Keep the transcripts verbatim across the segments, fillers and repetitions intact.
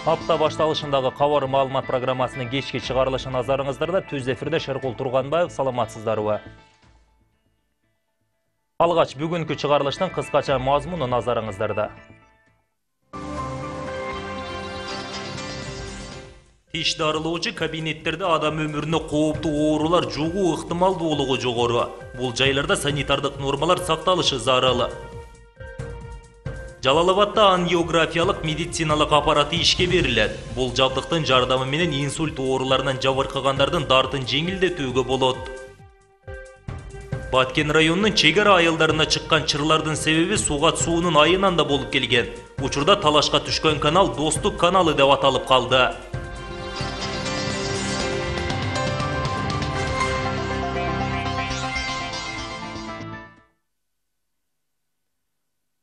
Апта башталышындагы кабар маалымат программасынын кечки чыгарылышы назарыңыздарда. Түз эфирде Шеркул Турганбаев, саламатсыздарбы? Алгач бүгүнкү чыгарылыштын кыскача мазмуну назарыңыздарда. Тиш дарылоочу кабинеттерде адам өмүрүнө кооптуу оорулар жугуу ыктымалдуулугу жогору. Бул жайларда санитардык нормалар сакталышы зарыл. Жалалабадда ангиографиялык медициналык аппараты ишке берилет. Бул жабдыктын жардамы менен инсульт ооруларынан жабыркагандардын дартын жеңилдетүүгө болот. Баткен районунун чек ара айылдарына чыккан чырлардын себеби Сугат суунун айынан да болуп келген. Учурда талашка түшкөн канал Достук каналы деп аталып калды.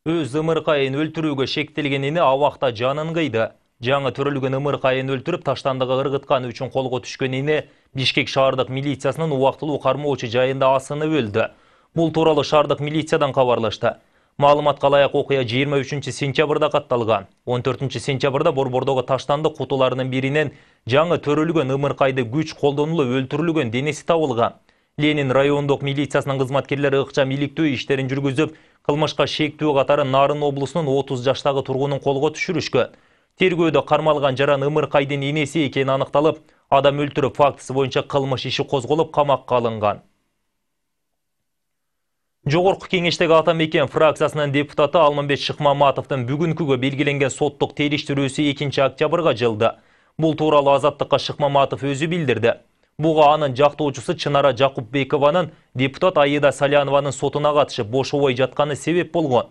Өз ымыркайын өлтүрүүгө шектелгенини абакта жанын кыйды. Жаңы төрөлгөн ымыркайын өлтүрүп таштандыгы ыргытканы үчүн колго түшкөнүнө Бишкек шаардык милициясынын убактылуу кармоочу жайында асынып өлдү. Бул тууралуу шаардык милициядан кабарлашты. Маалыматка ылайык окуя жыйырма үчүнчү сентябрда катталган. он төртүнчү сентябрда борбордогу таштандык кутуларынын биринен жаңы төрөлгөн ымыркайды күч колдонулуп өлтүрүлгөн денеси табылган. Ленин райондук милициясынын кызматкерлери ыкчам иликтөө иштерин жүргүзүп, кылмышка шектүү катары Нарын облусунун отуз жаштагы тургунун колго түшүрүшкөн. Тергөөдө кармалган жаран ымыркайдын энеси экени аныкталып, адам өлтүрүү фактысы боюнча кылмыш иши козголуп камакка алынган. Жогорку кеңештеги Ата Мекен фракциясынын депутаты Алмамбет Шыкмаматовдун бүгүнкүгө белгиленген соттук териштирүүсү экинчи октябрга жылды. Бул тууралуу Азаттыкка Шыкмаматов өзү билдирди. Буга анын жактоочусу Чынара Жакупбекованын депутат Аида Салянованын сотуна катышып бошобой жатканы себеп болгон.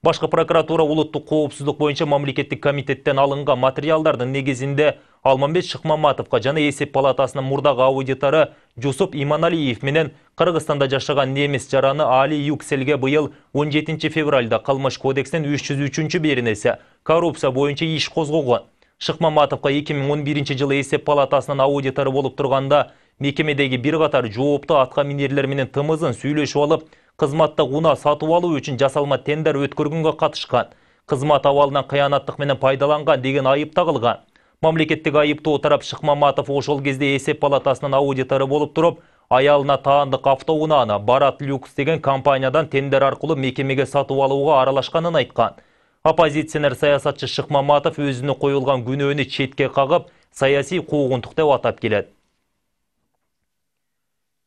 Башкы прокуратура улуттук коопсуздук боюнча мамлекеттик комитеттен алынган материалдардын негизинде Алмамбет Шыкмаматовго жана эсеп палатасынын мурдагы аудитору Жусуп Иманалиев менен Кыргызстанда жашаган немис жараны Али Юкселге быйыл он жетинчи февралда Кылмыш кодексинин үч жүз үчүнчү беренеси коррупция боюнча иш козгогон. Шыкмаматовго эки миң он биринчи жылы эсеп палатасынын аудитору болуп турганда мекемедеги бир катар жооптуу атка минерлер менен тымызын сүйлөшүп алып, кызматты унаа сатып алуу үчүн жасалма тендер өткөргөнгө катышкан. Кызмат абалынан кыянаттык менен пайдаланган деген айып тагылган. Мамлекеттик айыптоо тарап Шыкмаматов ошол кезде эсеп палатасынын аудитору болуп туруп, аялына таандык автоунааны Барат Люкс деген компаниядан тендер аркылуу мекемеге сатып алууга аралашканын айткан. Оппозиционер саясатчы Шыкмаматов өзүнө коюлган күнөөнү четке кагып, саясий куугунтук деп атап келет.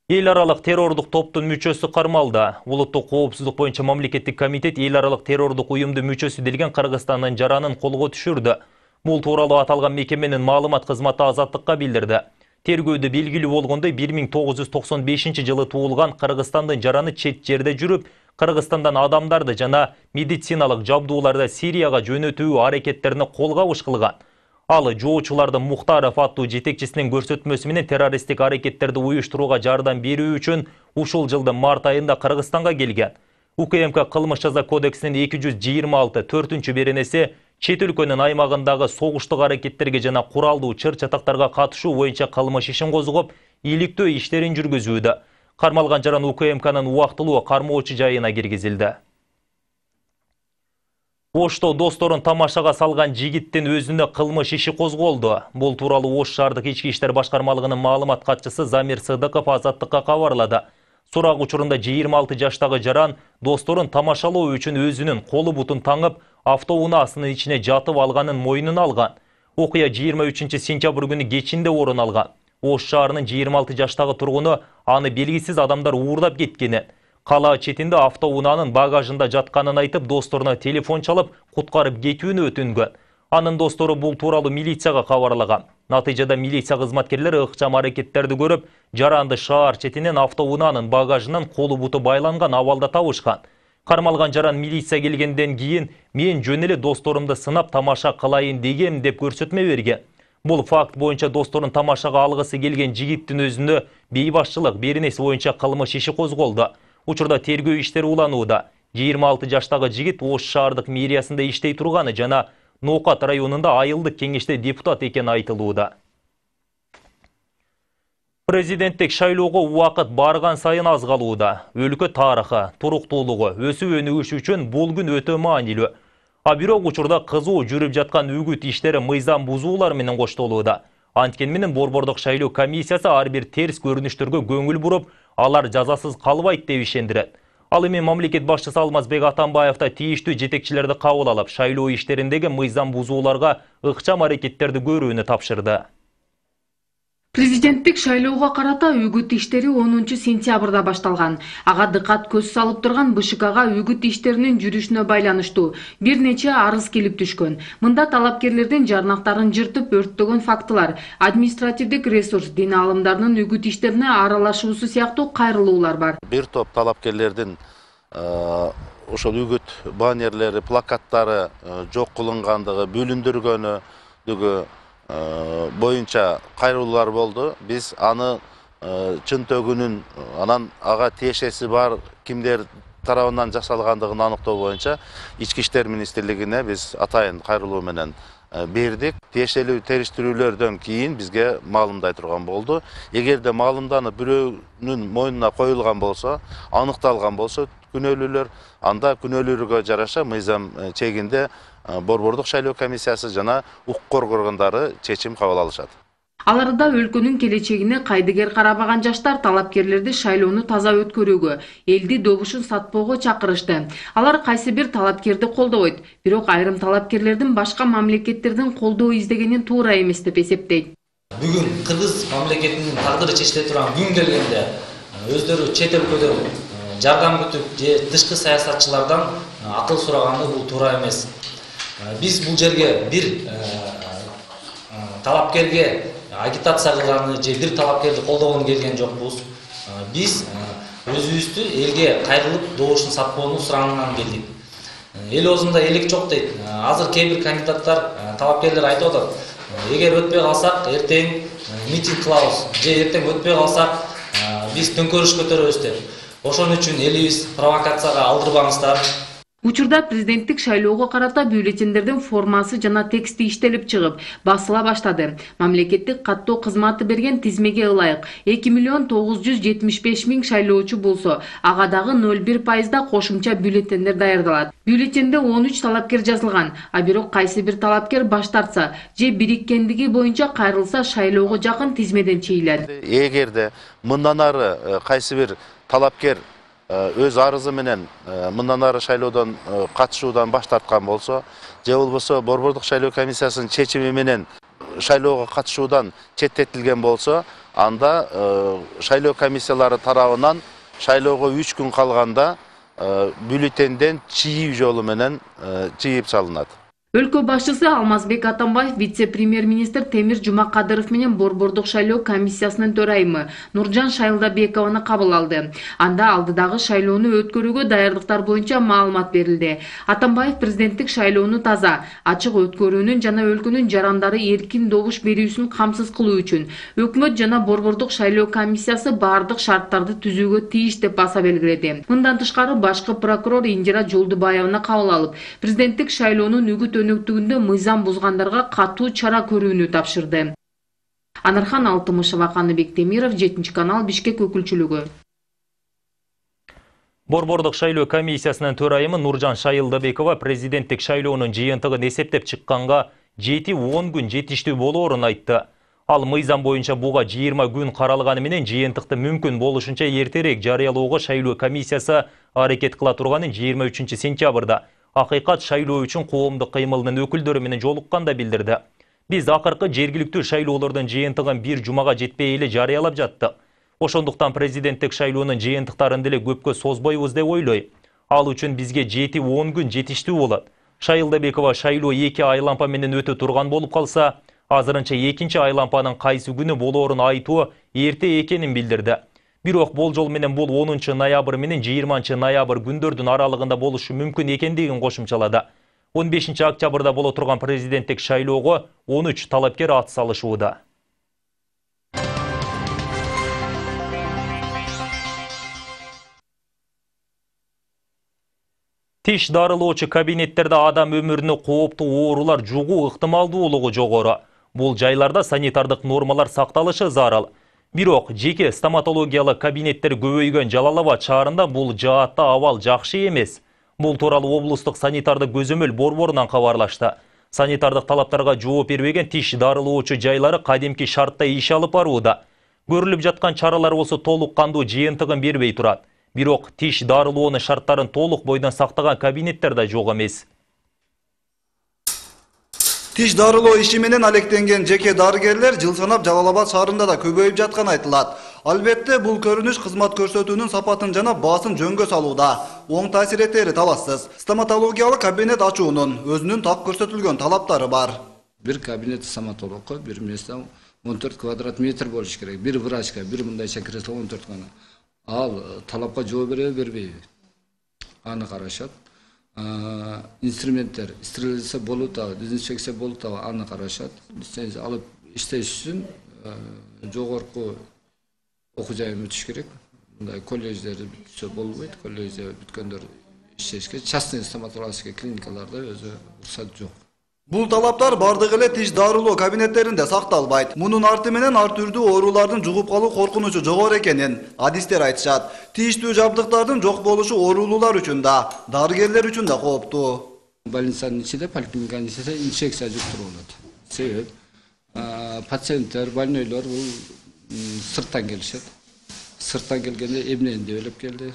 Эл аралык террордук топтун мүчөсү кармалды. Улуттук коопсуздук боюнча мамлекеттик комитет эл аралык террордук уюмдун мүчөсү делген Кыргызстандын жаранын колго түшүрдү. Бул тууралуу аталган мекеменин маалымат кызматы Азаттыкка билдирди. Тергөөдө белгилүү болгондой бир миң тогуз жүз токсон бешинчи жылы туулган Кыргызстандын жараны чет жерде жүрүп, Кыргызстандан адамдарды жана медициналык жабдууларды Сирияга жөнөтүү аракеттерине колгабыш кылган. Ал жоочулардын Мухтаров аттуу жетекчисинин көрсөтмөсү менен террористтик аракеттерди уюштурууга жардам берүү үчүн ушул жылдын март айында Кыргызстанга келген. УКМК кылмыш жаза кодексинин эки жүз жыйырма алты төртүнчү беренеси чет өлкөнүн аймагындагы согуштук аракеттерге жана куралдуу чыр-чатактарга катышуу боюнча кылмыш ишин козгоп, иликтөө иштерин жүргүзүүдө. Кармалган жаран УКМКнын убактылуу кармоочу жайына киргизилди. Ошто досторун тамашага салган жигиттин өзүнө кылмыш иши козголду. Бул тууралуу Ош шаардык ички иштер башкармалыгынын маалымат катчысы Замир Сыдыков Азаттыкка кабарлады. Сурак учурунда жыйырма алты жаштагы жаран досторун тамашалоо үчүн өзүнүн колу бутун таңып, автоунаасынын ичине жатып алганын мойнуна алган. Окуя жыйырма үчүнчү сентябрь күнү кечинде орун алган. Ош шаарынын жыйырма алты жаштагы тургуну аны белгисиз адамдар уурдап кеткенин, кала четинде автоунаанын багажында жатканын айтып, досторуна телефон чалып, куткарып кетүүнү өтүнгөн. Анын достору бул тууралуу милицияга кабарлаган. Натыйжада милиция кызматкерлери ыкчам аракеттерди көрүп, жаранды шаар четинен автоунаанын багажынан колу буту байланган абалда табышкан. Кармалган жаран милиция келгенден кийин мен жөн эле досторумду сынап тамаша кылайын дегем деп көрсөтмө берген. Бул факт боюнча досторун тамашага алгысы келген жигиттин өзүнө бейбашчылык беренеси боюнча кылмыш иши козголду. Учурда тергөө иштери уланууда. жыйырма алты жаштагы жигит Ош шаардык мэриясында иштей турганы жана Ноокат районунда айылдык кеңеште депутат экени айтылууда. Президенттик шайлоого убакыт барган сайын аз калууда. Өлкө тарыхы, туруктуулугу, өсүп өнүгүш үчүн бул күн өтө маанилүү. А бирок учурда кызуу жүрүп жаткан үгүт иштери мыйзам бузуулар менен коштолууда. Анткени менен Борбордук шайлоо комиссиясы ар бир терс көрүнүштөргө көңүл буруп, алар жазасыз калбайт деп ишендирет. Ал эми мамлекет башчысы Алмазбек Атамбаев да тийиштүү жетекчилерди кабыл алып, шайлоо иштериндеги мыйзам бузууларга ыкчам аракеттерди көрүүнү тапшырды. Президенттик шайлоого карата үгүт иштери онунчу сентябрда башталган. Ага дыкат көз салып турган Бэ Шэ Кга үгүт иштеринин жүрүшүнө байланыштуу бир нече арыз келип түшкөн. Мында талапкерлердин жарнактарын жыртып өрттөгөн фактылар, административдик ресурс, дин аалымдарынын үгүт иштерине аралашуусу сыяктуу кайрылуулар бар. Бир топ талапкерлердин ошол үгүт баннерлери, плакаттары жок кылынгандыгы, бүлүндүргөнү боюнча кайрылуулар болду. Биз аны чын төгүнүн, анан ага тиешеси бар кимдер тарабынан жасалгандыгын аныктоо боюнча Ички иштер министрлигине биз атайын кайрылуу менен бердик. Тиешелүү териштирүүлөрдөн кийин бизге маалымдай турган болду. Эгерде маалымданып бирөөнүн мойнуна коюлган болсо, аныкталган болсо күнөөлүүлөр, анда күнөөлөргө жараша мыйзам чегинде Борбордук шайлоо комиссиясы жана укук коргоо органдары чечим кабыл алышат. Аларда өлкөнүн келечегине кайдыгер карабаган жаштар талапкерлерди шайлоону таза өткөрүүгө, элди добушун сатпоого чакырышты. Алар кайсы бир талапкерди колдобойт, бирок айрым талапкерлердин башка мамлекеттердин колдоо издегени туура эмес деп эсептейт. Бүгүн Кыргыз мамлекетинин тагдыры чечиле турган күн келгенде өздөрү чет өлкөдөн жардам күтүп же тышкы саясатчылардан акыл сураганды бул туура эмес. Биз бул жерге бир талапкерге агитация кылганы же бир талапкерди колдогону келген жокпуз. Биз өзүбүздү элге кайрылып добушун сатпоону сурагандан келдик. Эл оозунда элек жок дейт. Азыр кээ бир кандидаттар, талапкерлер айтып атат. Эгер өтпөй калсак, эртең митинг кылабыз же эртең өтпөй калсак, биз төңкөрүш көтөрөбүз деп. Ошон үчүн элибиз провокацияга алдырбаңыздар. Учурда президенттик шайлоого карата бюллетендердин формасы жана тексти иштелип чыгып, басыла баштады. Мамлекеттик каттоо кызматы берген тизмеге ылайык эки миллион тогуз жүз жетимиш беш миң шайлоочу болсо, ага дагы ноль бир пайызда кошумча бюллетендер даярдалат. Бюллетенде он үч талапкер жазылган, а бирок кайсы бир талапкер баш тартса же бириккендиги боюнча кайрылса шайлоого жакын тизмеден чейилет. Эгерде мындан ары кайсы бир талапкер өз арызы менен мындан ары шайлоодон катышуудан баш тарткан болсо, же болбосо Борбордук шайлоо комиссиясынын чечими менен шайлоого катышуудан четтетилген болсо, анда шайлоо комиссиялары тарабынан шайлоого үч күн калганда бюллетенден чийүү жолу менен чийип салынат. Өлкө башчысы Алмазбек Атамбаев вице-премьер-министр Темир Жумакадыров менен Борбордук шайлоо комиссиясынын төрайымы Нуржан Шайылдабекованы кабыл алды. Анда алдыдагы шайлоону өткөрүүгө даярдыктар боюнча маалымат берилди. Атамбаев президенттик шайлоону таза, ачык өткөрүүнүн жана өлкөнүн жарандары эркин добуш берүүсүн камсыз кылуу үчүн өкмөт жана Борбордук шайлоо комиссиясы бардык шарттарды түзүүгө тийиш деп баса белгиледи. Мындан тышкары башкы прокурор Индира Жолдубаеваны кабыл алып, президенттик шайлоонун үгүт өнөктүгүндө мыйзам бузгандарга катуу чара көрүүнү тапшырды. Анархан Алтымышева, Каныбек Темиров, жетинчи канал, Бишкек өкүлчүлүгү. Борбордук шайлоо комиссиясынын төрайымы Нуржан Шайылдабекова президенттик шайлоонун жыйынтыгын эсептеп чыкканга жети он күн жетиштүү болоорун айтты. Ал мыйзам боюнча буга жыйырма күн каралганы менен жыйынтыкты мүмкүн болушунча эртерээк жарыялоого шайлоо комиссиясы аракет кыла турганын жыйырма үчүнчү сентябрда Акыйкат шайлоо үчүн коомдук кыймылынын өкүлдөрү менен жолукканда билдирди. Биз акыркы жергиликтүү шайлоолордун жыйынтыгын бир жумага жетпей эле жарыялап жаттык. Ошондуктан президенттик шайлоонун жыйынтыктарын деле көпкө созбойбуз деп ойлойм. Ал үчүн бизге жети он күн жетиштүү болот. Шайылдабекова шайлоо эки айлампа менен өтө турган болуп калса, азырынча экинчи айлампанын кайсы күнү болоорун айтуу эрте экенин билдирди. Бирок болжол менен бул онунчу ноябрь менен жыйырманчы ноябрь күндөрдүн аралыгында болушу мүмкүн экендигин кошумчалады. он бешинчи октябрда боло турган президенттик шайлоого он үч талапкер ат салышууда. Тиш дарылоочу кабинеттерде адам өмүрүнө кооптуу оорулар жугуу ыктымалдуулугу жогору. Бул жайларда санитардык нормалар сакталышы зарыл. Бирок жеке стоматологиялык кабинеттер көбөйгөн Жалал Абад шаарында бул жаатта абал жакшы эмес. Бул тууралуу облустук санитардык көзөмөл борборунан кабарлашты. Санитардык талаптарга жооп бербеген тиш дарылоочу жайлары кадимки шартта иш алып барууда. Көрүлүп жаткан чаралар болсо толук кандуу жыйынтыгын бербей турат. Бирок тиш дарылоонун шарттарын толук бойдон сактаган кабинеттер да жок эмес. Тиш дарылоо иши менен алектенген жеке дарыгерлер жыл санап Жалал Абад шаарында да көбөйүп жатканы айтылат. Албетте, бул көрүнүш кызмат көрсөтүүнүн сапатын жана баасын жөнгө салууда. Оң таасир этери талашсыз. Стоматологиялык кабинет ачуунун өзүнүн так көрсөтүлгөн талаптары бар. Бир кабинет стоматологко бир месте он төрт квадрат метр болуш керек. Бир врачка, бир мындайча кресло он төрт гана. Ал талапка жооп береби, бербейби? Аны карашат. Инструменттер стерилизация болуп атабы, дезинфекция болуп атабы, аны карашат. Лицензия алып иштеш үчүн жогорку окуу жайын өтүш керек. Мындай колледждер бүтсө болбойт. Колледжде бүткөндөр иштешке, частный стоматологический клиникаларда өзү уруксат жок. Бул талаптар бардык эле тиш дарылоо кабинеттеринде сакталбайт. Мунун арты менен ар түрдүү оорулардын жугуп калуу коркунучу жогору экенин адистер айтышат. Тийиштүү жабдыктардын жок болушу оорулуулар үчүн да, дарыгерлер үчүн да кооптуу. Больницанын ичинде, поликлиниканын ичинде инфекция жуктуруу болот. Себеп пациенттер, больнойлор бул сырттан келишет. Сырттан келгенде эмнени деп элеп келди,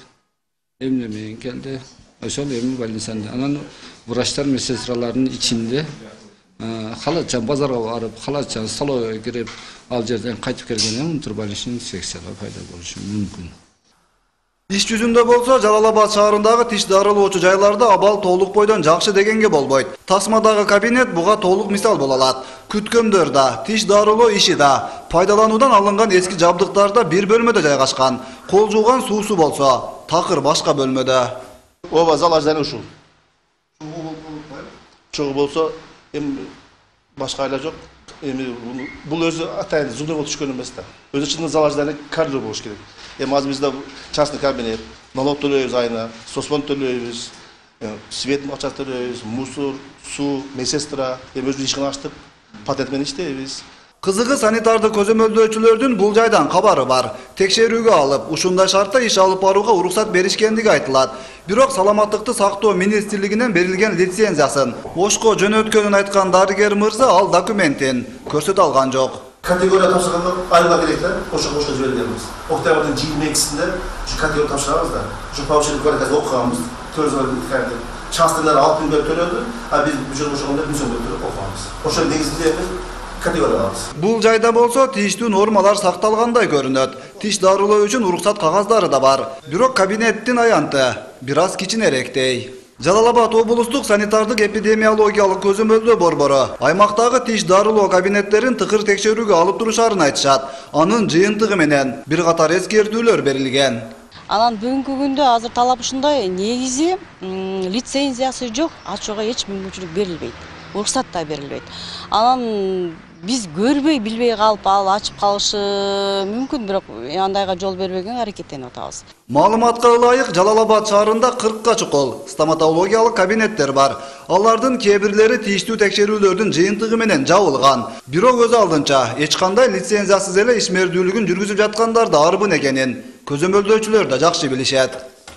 эмне менен келди. Ошол эми больницада. Анан врачтар, медсестралардын ичинде халатчан базарга барып, халатчан столовойго кирип, ал жерден кайтып келгенде унтур больничный инфекциялар пайда болушу мүмкүн. Иш жүзүндө болсо Жалал Абад шаарындагы тиш дарылоочу жайларда абал толук бойдон жакшы дегенге болбойт. Тасмадагы кабинет буга толук мисал боло алат. Күткөндөр да, тиш дарылоо иши да, пайдалануудан алынган эски жабдыктар да бир бөлмөдө жайгашкан. Кол жууган суусу болсо такыр башка бөлмөдө. Оба залажданы ушул. Чогуу болсо, эми башка айла жок. Эми бул өзү атайын зундой болуп түшкөн эмес да. Өзү чындыгында залажданы коридор болуш керек. Эми азыр бизде частный кабинет, налог төлөйбүз айына, соцфонд төлөйбүз, свет акча төлөйбүз, мусор, суу, медсестра, эми өзүбүз ишкана ачтык, патент менен иштейбиз. Кызыгы санитардык көзөмөлдөөчүлөрдүн бул жайдан кабары бар. Текшерүүгө алып, ушундай шартта иш алып барууга уруксат беришкендиги айтылат. Бирок саламаттыкты сактоо министрлигинен берилген лицензиясын ошко жөнөткөнүн айткан дарыгер мырза ал документин көрсөтө алган жок. Категория тапшырганда айырма керек да, ошо ошо жибергенбиз. Октябрдын жыйырма экисинде ушу категория тапшырабыз да. Ушу повышение квалификации окуганбыз. төрт частныйлар алты миң төлөдү, а биз бюджет ошондо жүз сом төлөп окуганбыз. Ошо негизинде категория алабыз. Бул жайда болсо тийиштүү нормалар сакталгандай көрүнөт. Тиш дарылоо үчүн уруксат кагаздары да бар. Бирок кабинеттин аянты бир аз кичинерээктей. Жалал Абад облустук санитардык эпидемиологиялык көзөмөлдөө борбору аймактагы тиш дарылоо кабинеттерин тыкыр текшерүүгө алып турушарын айтышат. Анын жыйынтыгы менен бир катар эскертүүлөр берилген. Анан бүгүнкү күндө азыр талап ушундай, негизи лицензиясы жок, ачууга эч мүмкүнчүлүк берилбейт. Уруксат да берилбейт. Анан биз көрбөй, билбей калып, ал ачып калышы мүмкүн, бирок андайга жол бербегенге аракеттенип атабыз. Маалыматка ылайык Жалал Абад шаарында кыркка чукул стоматологиялык кабинеттер бар. Алардын кээ бирлери тийиштүү текшерүүлөрдүн жыйынтыгы менен жабылган. Бирок өз алдынча эч кандай лицензиясыз эле ишмердүүлүгүн жүргүзүп жаткандар да арбын экенин көзөмөлдөөчүлөр да жакшы билишет.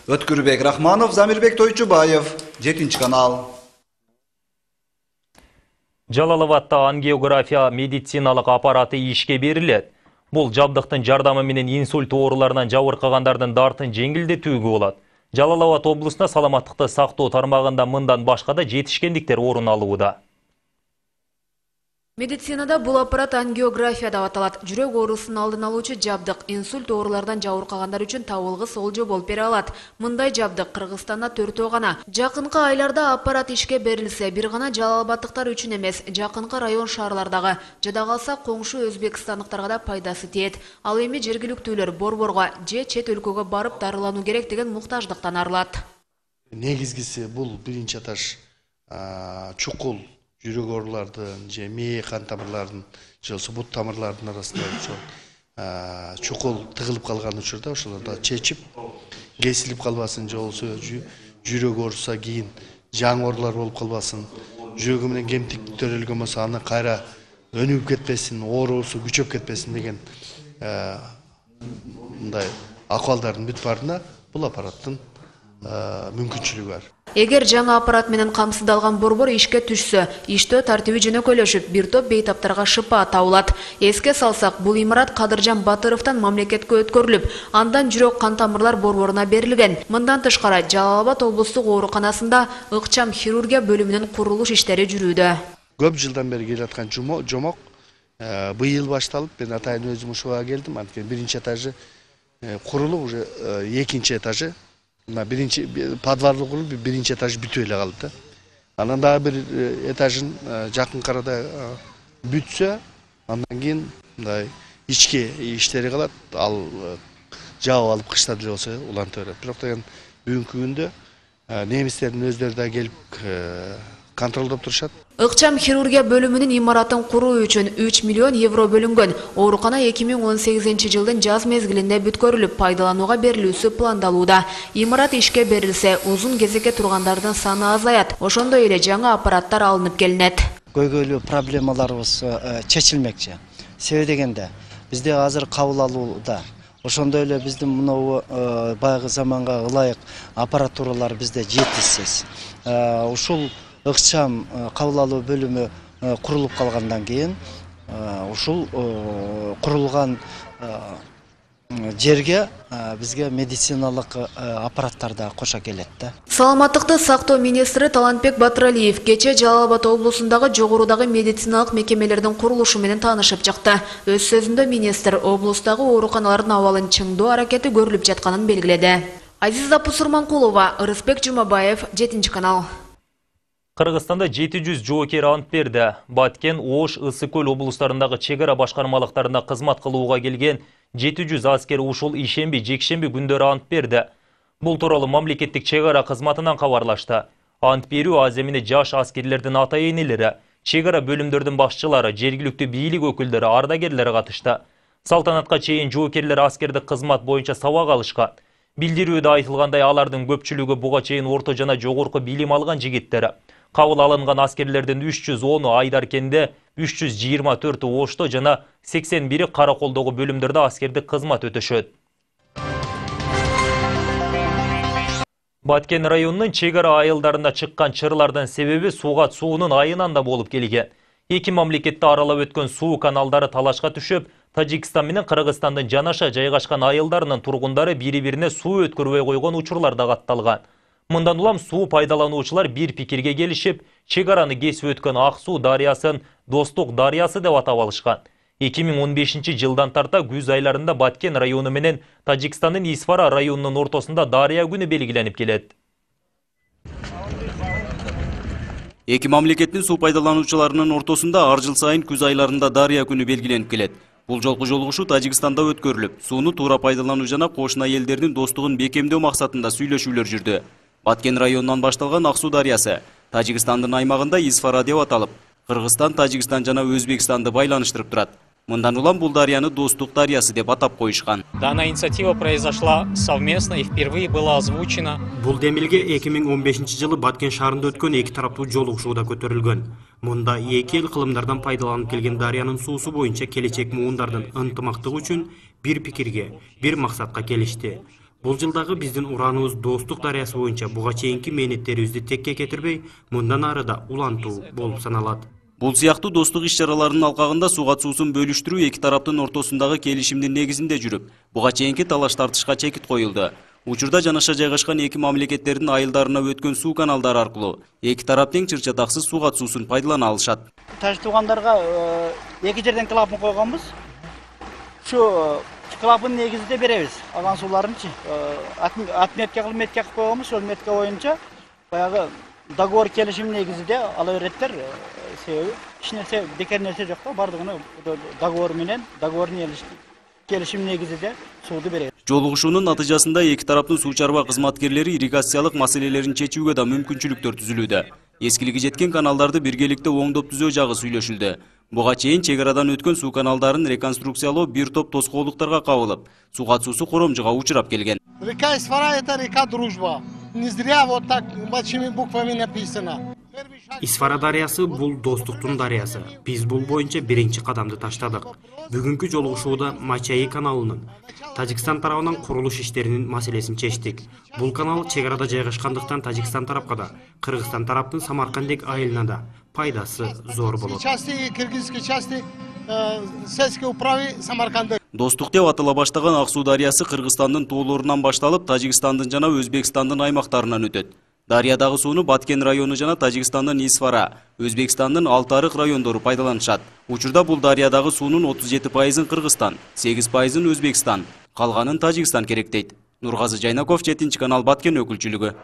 Өткүрбек Рахманов, Замирбек Тойчубаев, жетинчи канал. Жалал Абадта ангиография медициналык аппараты ишке берилет. Бул жабдыктын жардамы менен инсульт ооруларынан жабыркагандардын дартын жеңилдетүүгө болот. Жалал Абад облусунда саламаттыкты сактоо тармагында мындан башка да жетишкендиктер орун алууда. Медицинада бул аппарат ангиография деп аталат. Жүрөк оорусун алдын алуучу жабдык инсульт оорулардан жабыркагандар үчүн табылгы солжо болуп бере алат. Мындай жабдык Кыргызстанда төртөө гана. Жакынкы айларда аппарат ишке берилсе, бир гана Жалал Абадтыктар үчүн эмес, жакынкы район шаарлардагы, жада калса коңшу өзбекстандыктарга да пайдасы тиет. Ал эми жергиликтүүлөр борборго же чет өлкөгө барып дарылануу керек деген муктаждыктан арылат. Негизгиси бул биринчи этаж чукул жүрөк оорулардын же мээ кан тамырларынын же болбосо бут тамырлардын арасында ошол чукул тыгылып калган учурда ошолорду чечип, кесилип калбасын, же болбосо жүрөк ооруса кийин жаңы оорулар болуп калбасын, жүрөгү менен кемтик төрөлгөн болсо аны кайра өнүгүп кетпесин, оорусу күчөп кетпесин деген мындай акыбалдардын бүт баарына бул аппараттын мүмкүнчүлүгү бар. Эгер жаңы аппарат менен камсыздалган борбор ишке түшсө, иштөө тартиби жөнөкөйлөшүп, бир топ бейтаптарга шыпа табылат. Эске салсак, бул имарат Кадыржан Батыровдон мамлекетке өткөрүлүп, андан жүрөк кан тамырлар борборуна берилген. Мындан тышкары, Жалал Абад облустук ооруканасында ыкчам хирургия бөлүмүнүн курулуш иштери жүрүүдө. Көп жылдан бери келе аткан жомок быйыл башталып, мен атайын өзүм ушуга келдим. Анткени биринчи этажы курулуп, уже экинчи этажы биринчи подвалы курулуп, биринчи этаж бүтүп эле калды. Анан дагы бир этажын жакын арада бүтсө, андан кийин мындай ички иштери калат. Ал жаап алып кышта деле болсо уланта берет. Бирок деген бүгүнкү күндө немистердин өздөрү да келип контролдоп турушат. Ыкчам хирургия бөлүмүнүн имаратын куруу үчүн үч миллион евро бөлүнгөн. Оорукана эки миң он сегизинчи жылдын жаз мезгилинде бүткөрүлүп, пайдаланууга берилүүсү пландалууда. Имарат ишке берилсе, узун кезекке тургандардын саны азаят. Ошондой эле жаңы аппараттар алынып келинет. Көйгөйлүү проблемаларыбыз чечилмекчи. Себеби дегенде, бизде азыр кабыл алууда. Ошондой эле биздин мынау баягы заманга ылайык аппаратуралар бизде жетишсиз. Ушул ыкчам кабыл алуу бөлүмү курулуп калгандан кийин ушул курулган жерге бизге медициналык аппараттар да кошо келет да. Саламаттыкты сактоо министри Талантбек Батыралиев кече Жалал Абад облусундагы жогорудагы медициналык мекемелердин курулушу менен таанышып чыкты. Өз сөзүндө министр облустагы ооруканалардын абалын чыңдоо аракети көрүлүп жатканын белгиледи. Азиза Пусурманкулова, Ырысбек Жумабаев, жетинчи канал. Кыргызстанда жети жүз жоокер ант берди. Баткен, Ош, Ысык көл облустарындагы чек ара башкармалыктарында кызмат кылууга келген жети жүз аскер ушул ишемби, жекшемби күндөрү ант берди. Бул тууралуу мамлекеттик чек ара кызматынан кабарлашты. Ант берүү аземине жаш аскерлердин ата-энелери, чек ара бөлүмдөрдүн башчылары, жергиликтүү бийлик өкүлдөрү, ардагерлери катышты. Салтанатка чейин жоокерлер аскердик кызмат боюнча сабак алышкан. Билдирүүдө айтылгандай, алардын көпчүлүгү буга чейин орто жана жогорку билим алган жигиттер. Кабыл алынган аскерлердин үч жүз onu Айдаркенде, үч жүз жыйырма төртү Ошто жана сексен бири Караколдогу бөлүмдөрдө аскердик кызмат өтөшөт. Баткен районунун чек ара айылдарында чыккан чырлардын себеби Сугат суунун айынан да болуп келген. Эки мамлекетти аралап өткөн суу каналдары талашка түшүп, Тажикстан менен Кыргызстандын жанаша жайгашкан айылдарынын тургундары бири-бирине суу өткөрбөй койгон учурлар да катталган. Мындан улам суу пайдалануучулар бир пикирге келишип, чек араны кесип өткөн Ак суу дарыясын Достук дарыясы деп атап алышкан. эки миң он бешинчи жылдан тарта күз айларында Баткен району менен Тажикстандын Исфара районунун ортосунда дарыя күнү белгиленип келет. Эки мамлекеттин суу пайдалануучуларынын ортосунда ар жыл сайын күз айларында дарыя күнү белгиленип келет. Бул жолку жолугушуу Тажикстанда өткөрүлүп, сууну туура пайдалануу жана кошуна элдердин достугун бекемдөө максатында сүйлөшүүлөр жүрдү. Баткен районунан башталган Ак суу дарыясы Тажикстандын аймагында Исфара деп аталып, Кыргызстан, Тажикстан жана Өзбекстанды байланыштырып турат. Мындан улам бул дарыяны Достук дарыясы деп атап коюшкан. Данная инициатива произошла совместно и впервые была озвучена. Бул демилге эки миң он бешинчи жылы Баткен шаарында өткөн эки тараптуу жолугушууда көтөрүлгөн. Мында эки эл кылымдардан пайдаланып келген дарыянын суусу боюнча келечек муундардын ынтымактыгы үчүн бир пикирге, бир максатка келишти. Бул жылдагы биздин ураныбыз Достук дарыясы боюнча буга чейинки мээнеттерибизди текке кетирбей, мындан ары да улантуу болуп саналат. Бул сыяктуу достук иш-чараларынын алкагында Сугат суусун бөлүштүрүү эки тараптын ортосундагы келишимдин негизинде жүрүп, буга чейинки талаш тартышка чекит коюлду. Учурда жанаша жайгашкан эки мамлекеттердин айылдарына өткөн суу каналдары аркылуу эки тарап тең чыр-чатаксыз Сугат суусун пайдалана алышат. Таш туугандарга эки жерден клапан койгонбуз. Ушу клапан негизинде беребиз. Алган сууларынчы отметка кылып метка кылып койгонбуз. Ошол метка боюнча баягы договор келишим негизинде ала береттер. Себеби эч нерсе бекер нерсе жок да, бардыгына договор менен, договорный келишим негизинде сууду берет. Жолугушуунун натыйжасында эки тараптын суу чарба кызматкерлери ирригациялык маселелерин чечүүгө да мүмкүнчүлүктөр түзүлүүдө. Эскилиги жеткен каналдарды биргеликте оңдоп түзөө жагы сүйлөшүлдү. Буга чейин чек арадан өткөн суу каналдарын реконструкциялоо бир топ тоскоолдуктарга кабылып, Сугат суусу коромжуга учурап келген. Река Исфара — это река Дружба. Не зря вот так большими буквами написано. Исфара дарыясы бул Достуктун дарыясы. Биз бул боюнча биринчи кадамды таштадык. Бүгүнкү жолугушууда Мачаи каналынын Тажикстан тарабынан курулуш иштеринин маселесин чечтик. Бул канал чек арада жайгашкандыктан Тажикстан тарапка да, Кыргызстан тараптын Самаркандек айылына да пайдасы зор болот. Достук деп атала баштаган Ак Суу дарыясы Кыргызстандын тоолорунан башталып, Тажикстандын жана Өзбекстандын аймактарынан өтөт. Дарыядагы сууну Баткен району жана Тажикстандын Исфара, Өзбекстандын Алтарык райондору пайдаланышат. Учурда бул дарыядагы суунун отуз жети пайызын Кыргызстан, сегиз пайызын Өзбекстан, калганын Тажикстан керектейт. Нургазы Жайнаков, жетинчи канал, Баткен өкүлчүлүгү.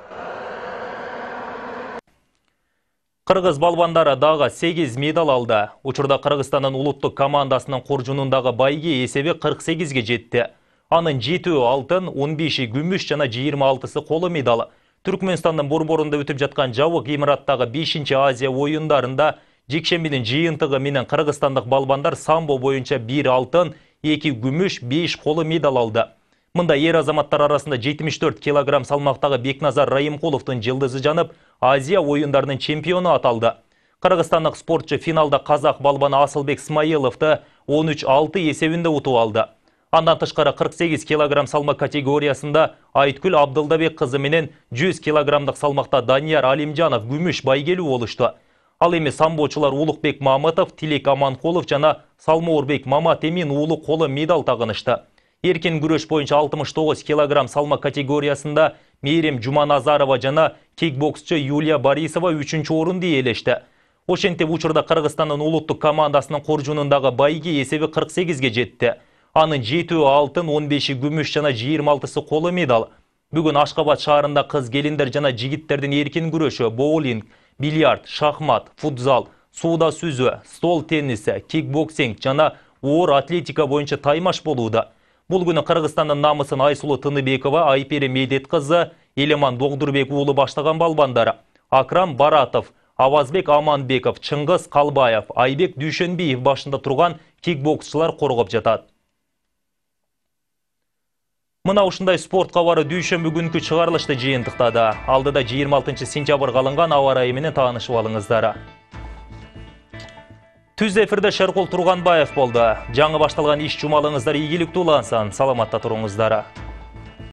Кыргыз балбандары дагы сегиз медаль алды. Учурда Кыргызстандын улуттук командасынын коржунундагы байги эсеби кырк сегизге жетти. Анын жетөө алтын, он беши күмүш жана жыйырма алтысы коло медаль. Түркмөнстандын борборунда өтүп жаткан жабык имараттагы бешинчи Азия оюндарында жекшембинин жыйынтыгы менен кыргызстандык балбандар самбо боюнча бир алтын, эки күмүш, беш коло медаль алды. Мында ер азаматтар арасында жетимиш төрт килограмм салмактагы Бекназар Райымкуловдун жылдызы жанып, Азия оюндарынын чемпиону аталды. Кыргызстандык спортчу финалда казак балбаны Асылбек Смайыловду он үч алты эсебинде утуп алды. Андан тышкары кырк сегиз килограмм салмак категориясында Айткүл Абдылдабек кызы менен жүз килограммдык салмакта Данияр Алимжанов күмүш байгелүү болушту. Ал эми самбочулар Улукбек Мамытов, Тилек Аманкулов жана Салмоорбек Маматемин уулу коло медаль тагынышты. Эркин күрөш боюнча алтымыш тогуз килограмм салмак категориясында Мээрим Жуманазарова жана кикбоксчу Юлия Борисова үчүнчү орунду ээлешти. Ошентип учурда Кыргызстандын улуттук командасынын коржунундагы байги эсеби кырк сегизге жетти. Анын жетөө алтын, он беши күмүш жана жыйырма алтысы коло медаль. Бүгүн Ашкабад шаарында кыз келиндер жана жигиттердин эркин күрөшү, боулинг, бильярд, шахмат, футзал, сууда сүзүү, стол тенниси, кикбоксинг жана оор атлетика боюнча таймаш болууда. Бул күнү Кыргызстандын намысын Айсулу Тыныбекова, Айпери Медет кызы, Элеман Догдурбек уулу баштаган балбандары. Акрам Баратов, Авазбек Аманбеков, Чыңгыз Калбаев, Айбек Дүйшөнбиев башында турган кикбоксчулар коргоп жатат. Мына ушундай спорт кабары дүйшөмбү күнкү чыгарылышты жыйынтыктады. Алдыда жыйырма алтынчы сентябрга алынган аба ырайы менен таанышып алыңыздар. Түз эфирде Шеркул Турганбаев болду. Жаңы башталган иш жумалыңыздар ийгиликтүү улансын. Саламатта туруңуздар.